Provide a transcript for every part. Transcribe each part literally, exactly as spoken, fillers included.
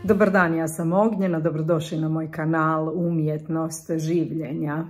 Dobar dan, ja sam Ognjena, dobrodošli na moj kanal Umjetnost življenja.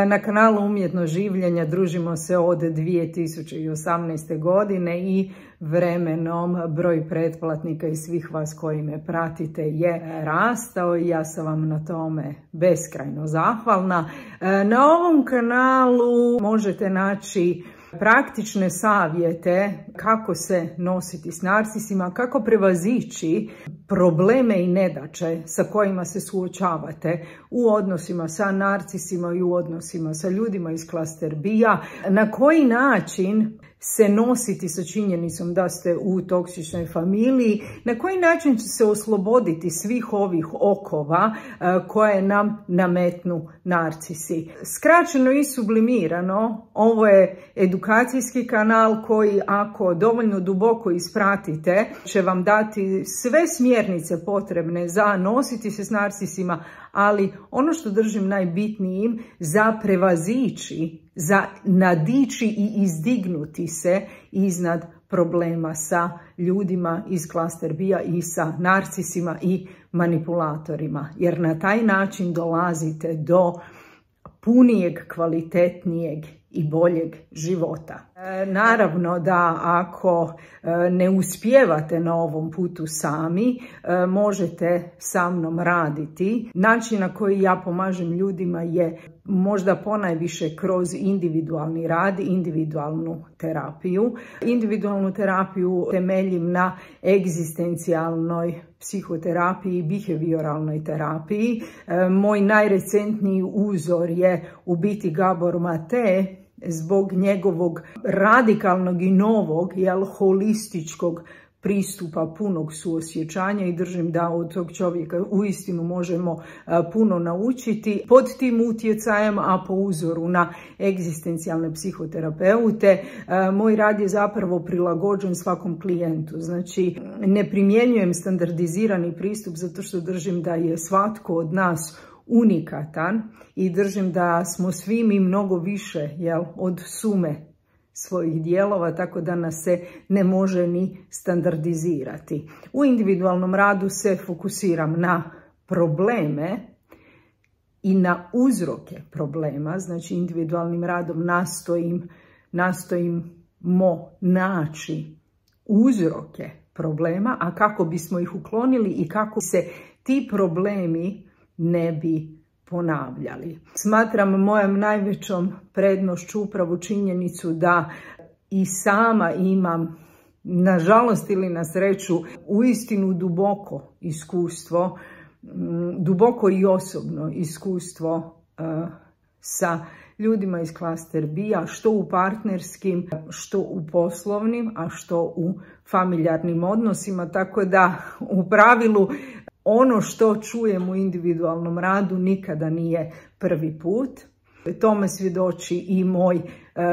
Na kanalu Umjetnost življenja družimo se od dvije tisuće osamnaeste. godine i vremenom broj pretplatnika i svih vas koji me pratite je rastao i ja sam vam na tome beskrajno zahvalna. Na ovom kanalu možete naći praktične savjete kako se nositi s narcisima, kako prevazići probleme i nedaće sa kojima se suočavate u odnosima sa narcisima i u odnosima sa ljudima iz klaster B-a, na koji način se nositi sa činjenicom da ste u toksičnoj familiji, na koji način će se osloboditi svih ovih okova koje nam nametnu narcisi. Skraćeno i sublimirano, ovo je edukacijski kanal koji ako dovoljno duboko ispratite će vam dati sve smjernice potrebne za nositi se s narcisima, ali ono što držim najbitnijim za prevazići, za nadići i izdignuti se iznad problema sa ljudima iz klaster B-a i sa narcisima i manipulatorima. Jer na taj način dolazite do punijeg, kvalitetnijeg i boljeg života. E, naravno da ako e, ne uspijevate na ovom putu sami, e, možete sa mnom raditi. Način na koji ja pomažem ljudima je možda ponajviše kroz individualni rad, individualnu terapiju. Individualnu terapiju temeljim na egzistencijalnoj psihoterapiji i behavioralnoj terapiji. E, moj najrecentniji uzor je u biti Gabor Mate, zbog njegovog radikalnog i novog, jel, holističkog pristupa punog suosjećanja i držim da od tog čovjeka uistinu možemo puno naučiti. Pod tim utjecajem, a po uzoru na egzistencijalne psihoterapeute, moj rad je zapravo prilagođen svakom klijentu. Znači, ne primjenjujem standardizirani pristup zato što držim da je svatko od nas unikatan i držim da smo svi mi mnogo više, jel, od sume svojih dijelova, tako da nas se ne može ni standardizirati. U individualnom radu se fokusiram na probleme i na uzroke problema, znači individualnim radom nastojim, nastojimo naći uzroke problema, a kako bismo ih uklonili i kako se ti problemi ne bi ponavljali. Smatram mojom najvećom prednošću upravo činjenicu da i sama imam, nažalost ili na sreću, uistinu duboko iskustvo, duboko i osobno iskustvo uh, sa ljudima iz klaster B-a, što u partnerskim, što u poslovnim, a što u familijarnim odnosima, tako da u pravilu ono što čujem u individualnom radu nikada nije prvi put. Tome svjedoči i moj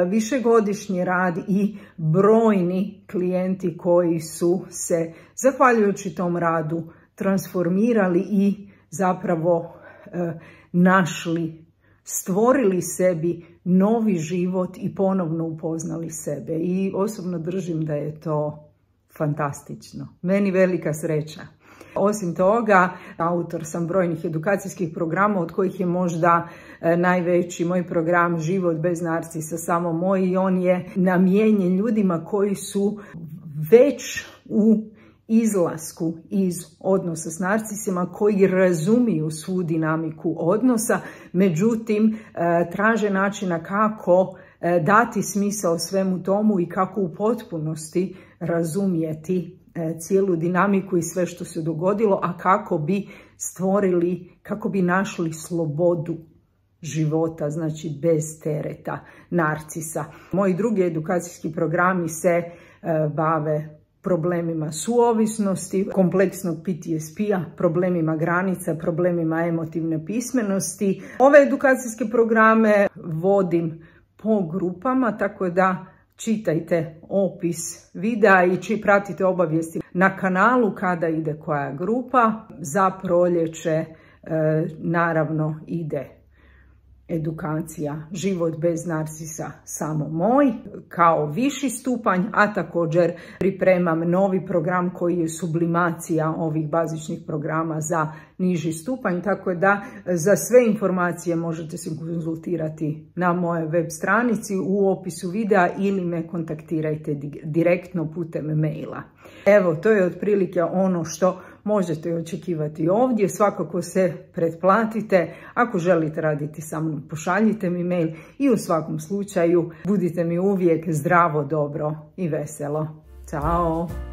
višegodišnji rad i brojni klijenti koji su se, zahvaljujući tom radu, transformirali i zapravo našli, stvorili sebi novi život i ponovno upoznali sebe. I osobno držim da je to fantastično. Meni velika sreća. Osim toga, autor sam brojnih edukacijskih programa, od kojih je možda najveći moj program Život bez narcisa samo moj, i on je namijenjen ljudima koji su već u izlasku iz odnosa s narcisima, koji razumiju svu dinamiku odnosa, međutim traže načina kako dati smisao svemu tomu i kako u potpunosti razumjeti cijelu dinamiku i sve što se dogodilo, a kako bi stvorili, kako bi našli slobodu života, znači bez tereta narcisa. Moji drugi edukacijski programi se bave problemima suovisnosti, kompleksnog P T S P-a, problemima granica, problemima emotivne pismenosti. Ove edukacijske programe vodim po grupama, tako da čitajte opis videa i pratite obavijesti na kanalu kada ide koja grupa. Za proljeće e, naravno ide edukacija Život bez narsisa samo moj kao viši stupanj, a također pripremam novi program koji je sublimacija ovih bazičnih programa za niži stupanj, tako da za sve informacije možete se konzultirati na mojoj web stranici u opisu videa ili me kontaktirajte direktno putem maila. Evo, to je otprilike ono što možete očekivati ovdje. Svakako se pretplatite. Ako želite raditi sa mnom, pošaljite mi mail i u svakom slučaju budite mi uvijek zdravo, dobro i veselo. Ćao!